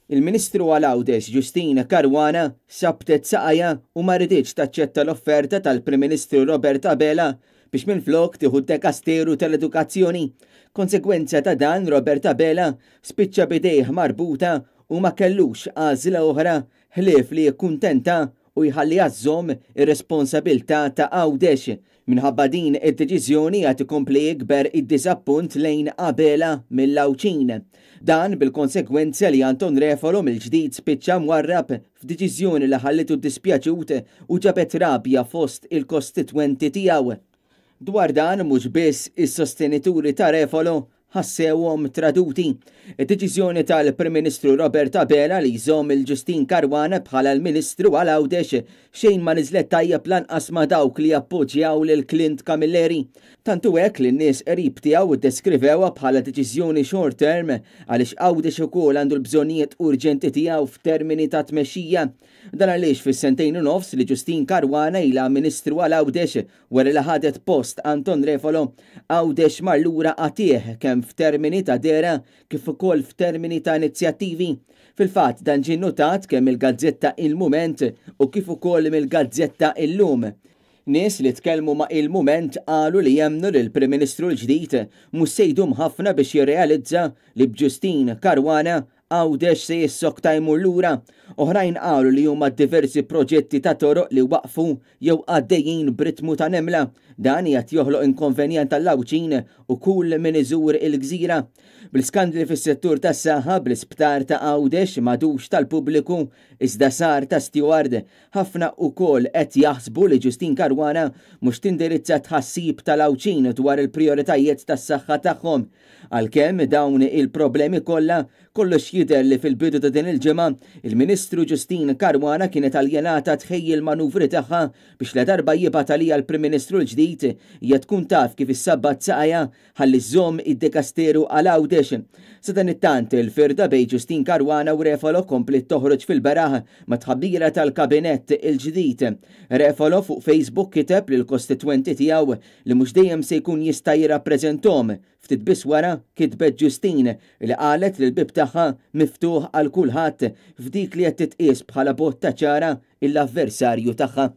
Il-Ministru għal Għawdex Justyne Caruana sabtet saqajha u ma riditx taċċetta l-offerta tal-Prim Ministru Robert Abela biex minflok tieħu d-dekasteru tal-edukazzjoni. Konsegwenza ta' dan Robert Abela spiċċa b'idejh marbuta u ma kellux għażla oħra ħlief li jikkuntenta u jħalliha żżomm ir-responsabilità ta' Għawdex. Minħabba din id-deċiżjoni qed ikompli jikber id-diżappunt lejn Abela mill-Għawdxin. Dan bil-konsegwenza li Anton Refalo mill-ġdid spiċċa mwarrab f'deċiżjoni li ħallitu ddispjaċut u ġabet rabja fost il-kostitwenti tiegħu. Dwar dan mhux biss is-sostenituri ta' Refalo ħassewhom traduti. Id-deċiżjoni tal-Prim Ministru Robert Abela li jżomm il Justyne Caruana bħala l-Ministru għal Għawdex xejn ma niżlet tajjeb lanqas ma' dawk li jappoġġjaw lil Clint Camilleri. Tant hu hekk li n-nies qrib tiegħu ddeskrivewha bħala deċiżjoni short term għaliex Għawdex ukoll għandu l-bżonnijiet urġenti tiegħu f'termini ta' tmexxija. Dan għaliex fis-sentejn u nofs li Justyne Caruana ilha Ministru għal Għawdex Wara li ħadet post Anton Refalo, Għawdex mar lura qatigħ kemm f'termini ta' dehra kif ukoll f'termini ta' inizjattivi. Fil-fatt dan ġie nnotat kemm mill-gazzetta Il-Mument u kif ukoll mill-gazzetta Illum. Nies li tkellmu ma' Il-Mument qalu li jemmnu li l-Prim Ministru l-ġdid mhux se jdum ħafna biex jirrealizza li b'Justyne Caruana Għawdex se jissokta jmur lura. Oħrajn qalu li huma diversi proġetti ta' toroq li waqfu jew għaddejjin b'ritmu ta' nemla. Dan qiegħed joħloq inkonvenjent għall-Għawdxin u kull min iżur il-gżira. Bl-iskandli fis-settur tas-saħħa, bl-isptar ta' Għawdex m'għadux tal-pubbliku iżda sar ta' Steward, ħafna ukoll qed jaħsbu li Justyne Caruana mhux tindirizza t-tħassib tal-Għawdxin dwar il-prijoritajiet tas-saħħa tagħhom. Għalkemm dawn il-problemi kollha, kollox jidher li fil-bidu ta' din il-ġimgħa, il-Ministru Justyne Caruana kienet aljenata tħejji l-manuvri tagħha biex ladarba jibgħat għaliha l-Prim Ministru l-ġdid, hija tkun taf kif issabbat saqajha ħalli żżomm id-dekasteru għal Għawdex. Sadanittant, il-firda bejn Justyne Caruana u Refalo kompliet toħroġ fil-beraħ mat-tħabbira tal-Kabinett il-ġdid. Refalo fuq Facebook kiteb lill-kostitwenti tiegħu li mhux dejjem se jkun jista' jirrappreżenthom. Ftit biss wara, kitbet Justine, li qalet li l-bieb tagħha miftuħ għal kulħadd f'dik li qed titqies bħala botta ċara l-avversarju tagħha.